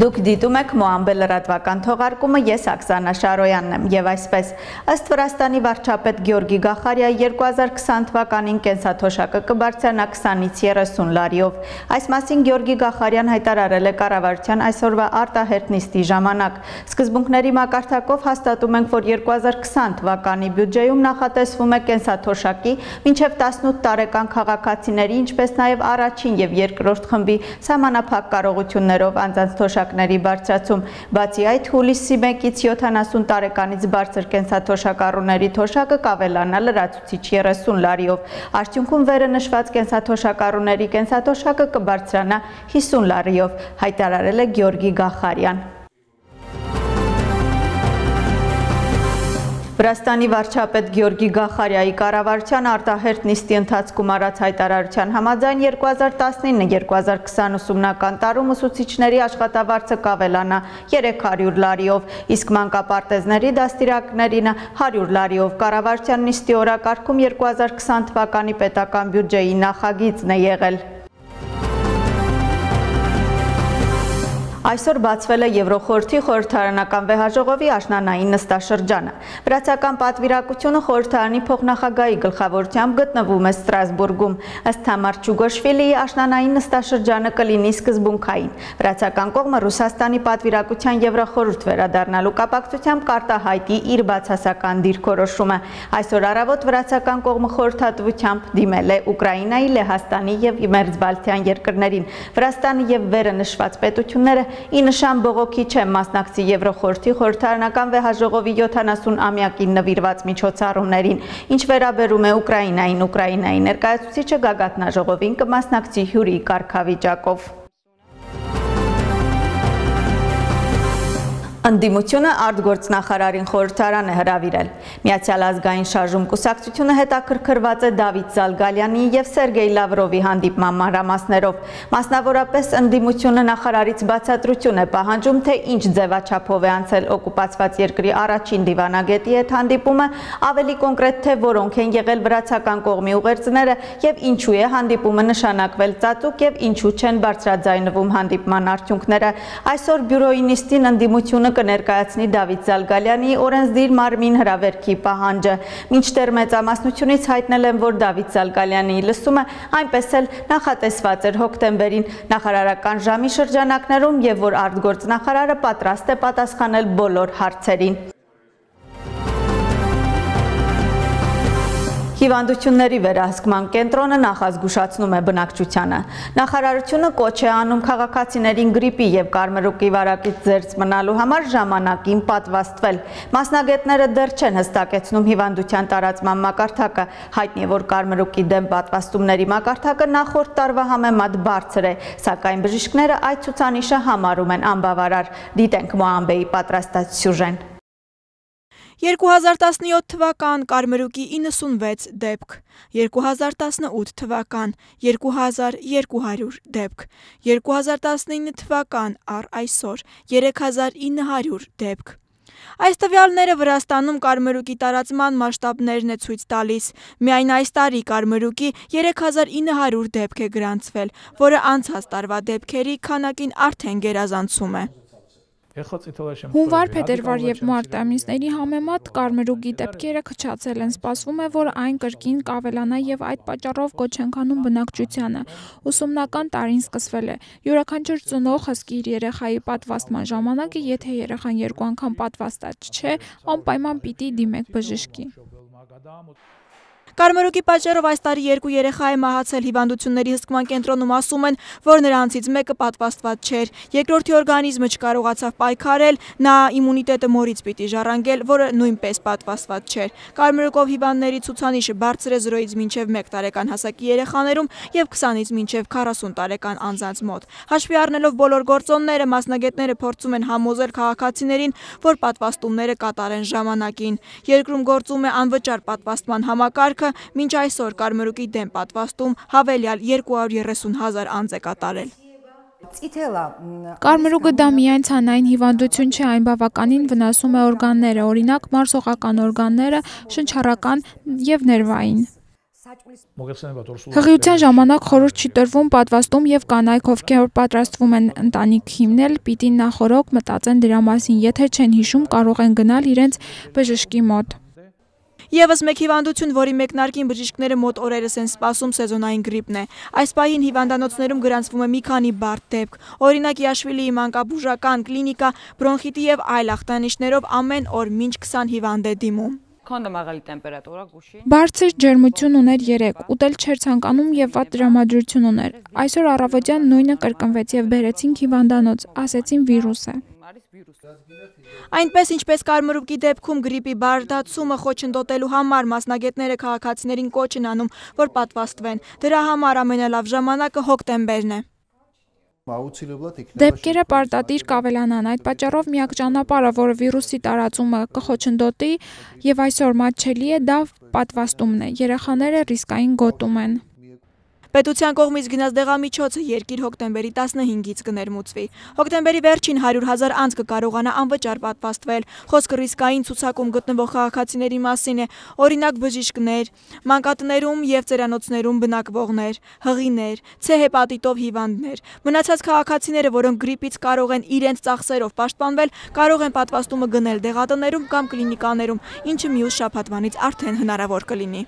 Դուք դիտում եք Մոամբե լրատվական թողարկումը, ես Աքսանա Շարոյանն եմ եւ այսպես ըստ Վրաստանի վարչապետ Գյորգի Գախարյայի 2020 թվականին կենսաթոշակը կբարձրանա 20-ից 30 լարիով։ Այս մասին Գյորգի Գախարյան հայտարարել է կառավարության այսօրվա արտահերթ նիստի ժամանակ։ Սկզբունքների մակարդակով հաստատում ենք, որ 2020 թվականի բյուջեում նախատեսվում է կենսաթոշակի մինչև 18 տարեկան քաղաքացիների, ինչպես նաեւ առաջին եւ երկրորդ խմբի սահմանափակ կարողություններով անձանց թոշակների բարձրացում, բացի այդ հուլիսի 1-ից 70 տարեկանից բարձր կենսաթոշակառուների թոշակը կավելանա լրացուցիչ 30 լարիով։ Արդյունքում վերը նշված կենսաթոշակառուների կենսաթոշակը կբարձրանա 50 լարիով, հայտարարել է Գյորգի Գախարյան։ Վրաստանի վարչապետ Գյորգի Գախարյայի կառավարության արտահերթ նիստի ընթացքում արած հայտարարության համաձայն 2019-2020 ուսումնական տարում ուսուցիչների աշխատավարձը կավելանա 300 լարիով, իսկ մանկապարտեզների դաստիարակներին 100 լարիով։ Կառավարության նիստի օրակարգում 2020 թվականի պետական բյուջեի նախագիծն է եղել։ Այսօր բացվել է Եվրոխորհրդի խորհրդարանական վեհաժողովի աշնանային նստաշրջանը։ Վրացական պատվիրակությունը խորհրդարանի փոխնախագահի գլխավորությամբ գտնվում է Ստրասբուրգում։ Ըստ Թամար Չուգոշվիլիի աշնանային նստաշրջանը կլինի սկզբունքային։ Վրացական կողմը Ռուսաստանի պատվիրակության Եվրոխորհուրդ վերադառնալու կապակցությամբ կարտահայտի իր բացասական դիրքորոշումը։ Այսօր առավոտ վրացական կողմը խորհրդատվությամբ դիմել է Ուկրաինայի, Լեհաստանի եւ Մերձբալթյան երկրներին։ Վրաստանը եւ վերը նշված պետությունները ի նշան բողոքի չեն մասնակցի Եվրոխորհրդի խորհրդարանական վեհաժողովի 70-ամյակին նվիրված միջոցառումներին։ Ինչ վերաբերում է Ուկրաինային, Ուկրաինայի ներկայացուցիչը գագաթնաժողովին կմասնակցի հյուրի կարգավիճակով։ Ընդդիմությունը արտգործնախարարին խորհրդարան է հրավիրել։ Միացյալ ազգային շարժում կուսակցությունը հետաքրքրված է Դավիթ Զալգալյանի եւ Սերգեյ Լավրովի հանդիպման մանրամասներով։ Մասնավորապես ընդդիմությունը նախարարից բացատրություն է պահանջում, թե ինչ ձևաչափով է անցել օկուպացված երկրի առաջին դիվանագետի հետ հանդիպումը, ավելի կոնկրետ թե որոնք են եղել վրացական կողմի ուղերձները եւ ինչու է հանդիպումը նշանակվել ծածուկ եւ ինչու չեն բարձրաձայնվում հանդիպման արդյունքները։ Այսօր բյուրոյի նիստին ընդդիմությունը կներկայացնի Դավիթ Զալգալյանի օրենսդիր մարմին հրավերքի պահանջը։ Մինչդեռ մեծամասնությունից հայտնել են, որ Դավիթ Զալգալյանի լսումը այնպես էլ նախատեսված էր հոկտեմբերին նախարարական ժամի շրջանակներում եւ որ արտգործնախարարը պատրաստ է պատասխանել բոլոր հարցերին։ Հիվանդությունների վերահսկման կենտրոնը նախազգուշացնում է բնակչությանը։ Նախարարությունը կոչ է անում քաղաքացիներին գրիպի եւ կարմրուկի վարակից զերծ մնալու համար ժամանակին պատվաստվել։ Մասնագետները դեռ չեն հստակեցնում հիվանդության տարածման մակարդակը։ Հայտնի է, որ կարմրուկի դեմ պատվաստումների մակարդակը նախորդ տարվա համեմատ բարձր է, սակայն բժիշկները այդ ցուցանիշը համարում են անբավարար։ Դիտենք Մոամբեի պատրաստած սյուժեն։ 2017 թվական կարմրուկի 96 դեպք, 2018 թվական 2200 դեպք, 2019 թվական առ այսօր 3900 դեպք։ Այս տվյալները Վրաստանում կարմրուկի տարածման մասշտաբներն է ցույց տալիս։ Միայն այս տարի կարմրուկի 3900 դեպք է գրանցվել, որը անցած տարվա դեպքերի քանակին արդեն գերազանցում է։ Հունվար, փետրվար եւ մարտ ամիսների համեմատ կարմրուկի դեպքերը քչացել են։ Սպասվում է, որ այն կրկին կավելանա եւ այդ պատճառով կոչ ենք անում բնակչությանը։ Ուսումնական տարին սկսվել է։ Յուրաքանչյուր ծնող հսկի իր երեխայի պատվաստման ժամանակը, եթե երեխան 2 անգամ պատվաստած չէ, անպայման պիտի դիմեք բժշկի։ Կարմրուկի պատճառով այս տարի 2 երեխա է մահացել։ Հիվանդությունների հսկման կենտրոնում ասում են, որ նրանցից մեկը պատվաստված չէր։ Երկրորդի օրգանիզմը չկարողացավ պայքարել, նա իմունիտետը մորից պիտի ժառանգել, որը նույնպես պատվաստված չէր։ Կարմրուկով հիվանդների ցուցանիշը բարձր է 0-ից մինչև 1 տարեկան հասակի երեխաներում եւ 20-ից մինչև 40 տարեկան անձանց մոտ։ Հաշվի առնելով բոլոր գործոնները, մասնագետները փորձում են համոզել քաղաքացիներին, որ պատվաստումները կատարեն ժամանակին։ Երկրում գործում է անվճար պատվաստման համակարգը, մինչ այսօր կարմրուկի դեմ պատվաստում հավելյալ 230,000 անձ է կատարել։ Կարմրուկը դա միայն ցանային հիվանդություն չէ, այն բավականին վնասում է օրգանները, օրինակ մարսողական օրգանները, շնչառական եւ ներվային։ Հղիության ժամանակ խորհուրդ չի տրվում պատվաստում եւ կանայք, ովքեր պատրաստվում են ընտանիք հիմնել, պիտի նախօրոք մտածեն դրա մասին, եթե չեն հիշում, կարող են գնալ իրենց բժշկի մոտ։ Եվս մեկ հիվանդություն, որի մեկնարկին բժիշկները մոտ օրերս են սպասում, սեզոնային գրիպն է։ Այս պահին հիվանդանոցներում գրանցվում է մի քանի բարդ դեպք։ Օրինակ Յաշվիլիի մանկաբուժական կլինիկա բրոնխիտի եւ այլ ախտանիշներով ամեն օր մինչ 20 հիվանդ է դիմում։ Բարձր ջերմություն ուներ 3, ուտել չէր ցանկանում եւ վատ տրամադրություն ուներ։ Այսօր առավոտյան նույնը կրկնվեց եւ բերեցինք հիվանդանոց, ասեցին վիրուս է։ Այնպես ինչպես կարմրուկի դեպքում գրիպի բարդացումը խոչընդոտելու համար մասնագետները քաղաքացիներին կոչ են անում, որ պատվաստվեն։ Դրա համար ամենալավ ժամանակը հոկտեմբերն է։ Դեպքերը պարտադիր կավելանան, այդ պատճառով միակ ճանապարհը, որը վիրուսի տարածումը կխոչընդոտի եւ այսօր մատչելի է, դա պատվաստումն է։ Երեխաները ռիսկային գոտում են։ Պետության կողմից գնած դեղամիջոցը երկիր հոկտեմբերի 15-ից կներմուծվի։ Հոկտեմբերի վերջին 100,000 անձ կկարողանա անվճար պատվաստվել։ Խոսքը ռիսկային ցուցակում գտնվող քաղաքացիների մասին է, օրինակ բժիշկներ, մանկատներում եւ ծերանոցներում բնակվողներ, հղիներ, C հեպատիտով հիվանդներ։ Մնացած քաղաքացիները, որոնք գրիպից կարող են իրենց ծախսերով պաշտպանվել, կարող են պատվաստումը գնել դեղատներում կամ կլինիկաներում, ինչը մյուս շաբաթվանից արդեն հնարավոր կլինի։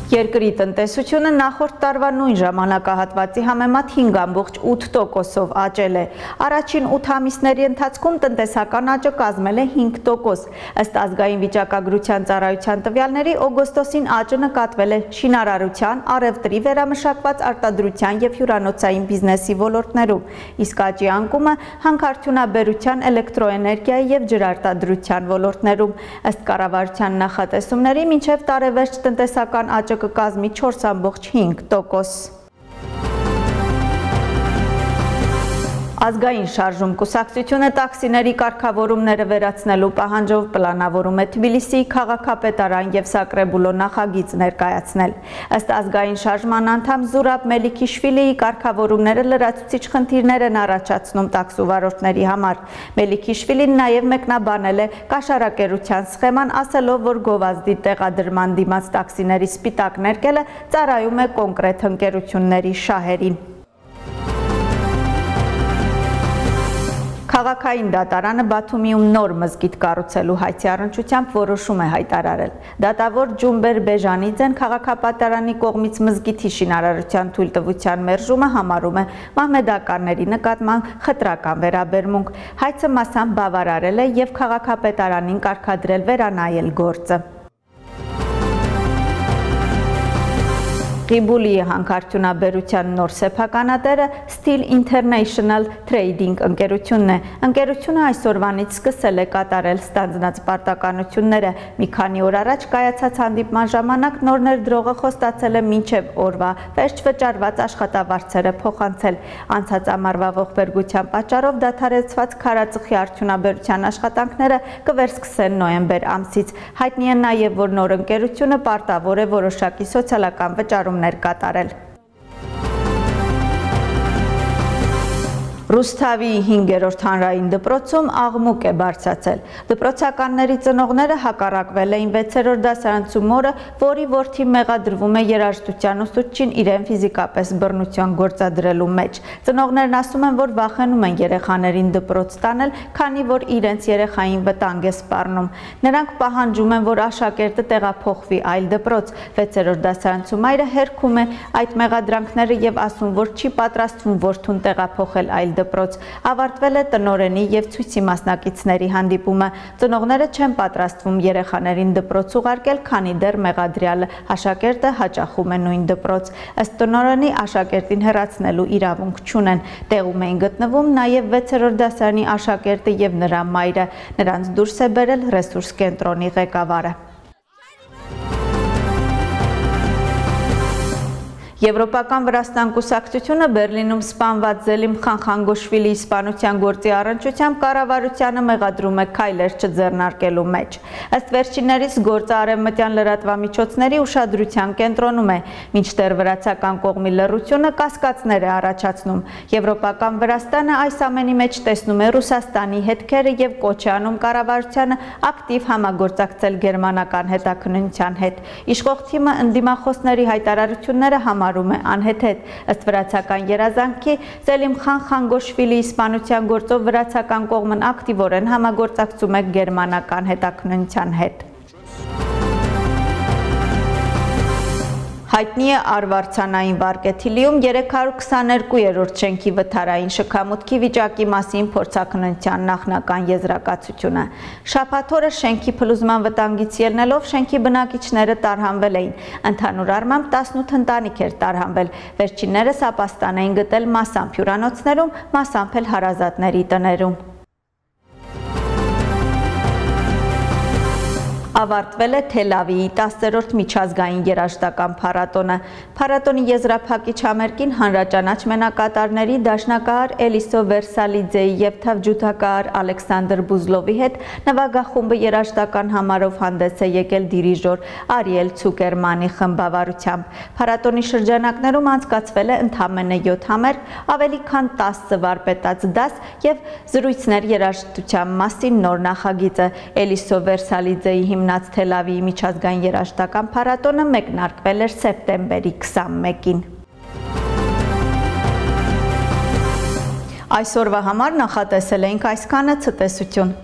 Երկրի տնտեսությունը նախորդ տարվա նույն ժամանակահատվածի համեմատ 5,8%-ով աճել է։ Առաջին 8 ամիսների ընթացքում տնտեսական աճը կազմել է 5%։ Ըստ ազգային վիճակագրության ծառայության տվյալների օգոստոսին աճը նկատվել է շինարարության, առևտրի, վերամշակված արտադրության եւ հյուրանոցային բիզնեսի ոլորտներում, իսկ աճի անկումը հանքարդյունաբերության, էլեկտրոէներգիայի եւ ջրարտադրության ոլորտներում։ Ըստ կառավարության նախատեսումների մինչեւ տարեվերջ տնտեսական աճը կկազմի 4,5%։ Ազգային շարժում կուսակցությունը տաքսիների կարգավորումները վերացնելու պահանջով պլանավորում է Թբիլիսիի քաղաքապետարան եւ Սակրեբուլո նախագիծ ներկայացնել։ Ըստ ազգային շարժման անդամ Զուրաբ Մելիքիշվիլիի կարգավորումները լրացուցիչ խնդիրներ են առաջացնում տաքսուվարորդների համար։ Մելիքիշվիլին նաեւ մեկնաբանել է կաշառակերության սխեման, ասելով, որ գովազդի տեղադրման դիմաց տաքսիների սպիտակ ներկելը ծառայում է կոնկրետ ընկերությունների շահերին։ Քաղաքային դատարանը Բաթումիում նոր մզգիթ կառուցելու հայցի առնչությամբ որոշում է հայտարարել։ Դատավոր Ջումբեր Բեժանիձեն քաղաքապետարանի կողմից մզգիթի շինարարության թույլտվության մերժումը համարում է մահմեդականների նկատմամբ խտրական վերաբերմունք։ Հայցը մասամբ բավարարել է եւ քաղաքապետարանին կարգադրել վերանայել գործը։ Ղիբուլիի հանքարդյունաբերության նոր սեփականատերը Steel International Trading ընկերությունն է։ Ընկերությունը այսօրվանից սկսել է կատարել ստանձնած պարտականությունները։ Մի քանի օր առաջ կայացած հանդիպման ժամանակ նոր ներդրողը խոստացել է մինչև օրվա վերջ վճարված աշխատավարձերը փոխանցել։ Անցած ամառվա ողբերգության պատճառով դադարեցված քարածխի արդյունաբերության աշխատանքները կվերսկսեն նոյեմբեր ամսից։ Հայտնի է նաև, որ նոր ընկերությունը պարտավոր է որոշակի սոցիալական վճարում կատարել։ Ռուսթավի 5-րդ հանրային դպրոցում աղմուկ է բարձրացել։ Դպրոցականների ծնողները հակառակվել էին 6-րդ դասարանցում օրը, որի որդի մեղադրվում է երաժշտության ուսուցչին իրեն ֆիզիկապես բռնության գործադրելու մեջ։ Ծնողներն ասում են, որ վախենում են երեխաներին դպրոց տանել, քանի որ իրենց երեխային վտանգ է սպառնում։ Նրանք պահանջում են, որ աշակերտը տեղափոխվի այլ դպրոց։ 6-րդ դասարանցում այրը հերքում է այդ մեղադրանքները եւ ասում, որ չի պատրաստվում որդուն տեղափոխել այլ դպրոց։ Ավարտվել է տնօրենի եւ ցույցի մասնակիցների հանդիպումը։ Ծնողները չեն պատրաստվում երեխաներին դպրոց ուղարկել, քանի դեռ մեղադրյալը աշակերտը հաճախում է նույն դպրոց։ Ըստ տնօրենի աշակերտին հեռացնելու իրավունք չունեն։ Տեղում էին գտնվում նաեւ 6-րդ դասարանի աշակերտը եւ նրա մայրը։ Նրանց դուրս է բերել ռեսուրս կենտրոնի ղեկավարը։ Եվրոպական Վրաստան կուսակցությունը Բերլինում սպանված Զելիմ Խանխանգոշվիլիի սպանության գործի առնչությամբ կառավարությանը մեղադրում է քայլեր չձեռնարկելու մեջ։ Ըստ վերջիններիս գործը արևմտյան լրատվամիջոցների ուշադրության կենտրոնում է, մինչդեռ վրացական կողմի լռությունը կասկածներ է առաջացնում։ Եվրոպական Վրաստանը այս ամենի մեջ տեսնում է Ռուսաստանի հետքերը եւ կոչ է անում կառավարությանը ակտիվ համագործակցել գերմանական հետաքննության հետ։ Իշխող թիմը ընդդիմախոսների հայտարարությունները համարում է անհեթեթ։ Ըստ վրացական երազանքի Զելիմ Խանխանգոշվիլիի սպանության գործով վրացական կողմն ակտիվորեն համագործակցում է գերմանական հետաքննության հետ։ Հայտնի է Արվարձանային վարկեթիլիում 322-րդ շենքի վթարային շքամուտքի վիճակի մասին փորձաքննության նախնական եզրակացությունը։ Շաբաթ օրը շենքի փլուզման վտանգից ելնելով շենքի բնակիչները տարհանվել էին։ Ընդհանուր առմամբ 18 ընտանիք էր տարհանվել։ Վերջիններս ապաստան էին գտել մասամբ հյուրանոցներում, մասամբ էլ հարազատների տներում։ Ավարտվել է Թել Ավիվի 10-րդ միջազգային երաժշտական փառատոնը։ Փառատոնի եզրափակիչ համերգին հանրաճանաչ մենակատարների դաշնակահար Էլիսո Վերսալիձեի եւ թավջութակահար Ալեքսանդր Բուզլովի հետ նվագախումբը երաժշտական համարով հանդես է եկել դիրիժոր Արիել Ցուկերմանի խմբավարությամբ։ Փառատոնի շրջանակներում անցկացվել է ընդամենը 7 համերգ, ավելի քան 10 վարպետաց դաս եւ զրույցներ երաժշտության մասին նոր նախագիծը։ Էլիսո Վերսալիձեի հիմնած Թել Ավիվի միջազգային երաժշտական փառատոնը մեկնարկվել էր սեպտեմբերի 21-ին։ Այսօրվա համար նախատեսել էինք այսքանը, ցտեսություն։